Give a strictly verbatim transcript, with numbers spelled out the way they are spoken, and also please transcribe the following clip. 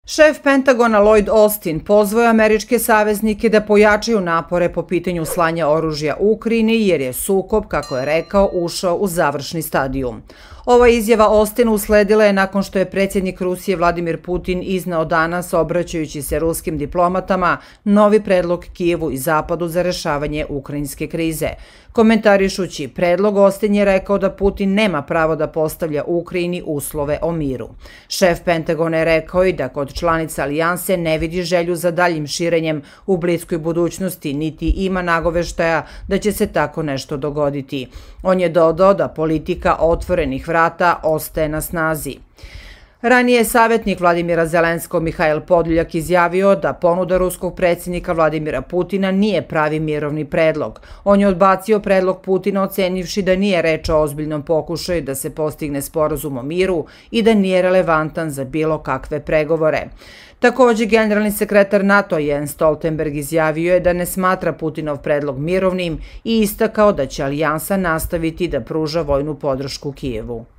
Šef Pentagona Lloyd Austin pozvao je američke saveznike da pojačaju napore po pitanju slanja oružja u Ukrajini jer je sukob, kako je rekao, ušao u završni stadijum. Ova izjava Austina usledila je nakon što je predsjednik Rusije Vladimir Putin izneo danas, obraćajući se ruskim diplomatama, novi predlog Kijevu i Zapadu za rešavanje ukrajinske krize. Komentarišući predlog, Austin je rekao da Putin nema pravo da postavlja Ukrajini uslove o miru. Šef Pentagona je rekao i da kod članica alijanse ne vidi želju za daljim širenjem u bliskoj budućnosti, niti ima nagoveštaja da će se tako nešto dogoditi. On je dodao da politika otvorenih vrata ostaje na snazi. Ranije je savjetnik Vladimira Zelenskog Mihajl Podolnjak izjavio da ponuda ruskog predsjednika Vladimira Putina nije pravi mirovni predlog. On je odbacio predlog Putina ocenivši da nije reč o ozbiljnom pokušaju da se postigne sporazum o miru i da nije relevantan za bilo kakve pregovore. Također, generalni sekretar NATO Jens Stoltenberg izjavio je da ne smatra Putinov predlog mirovnim i istakao da će alijansa nastaviti da pruža vojnu podršku Kijevu.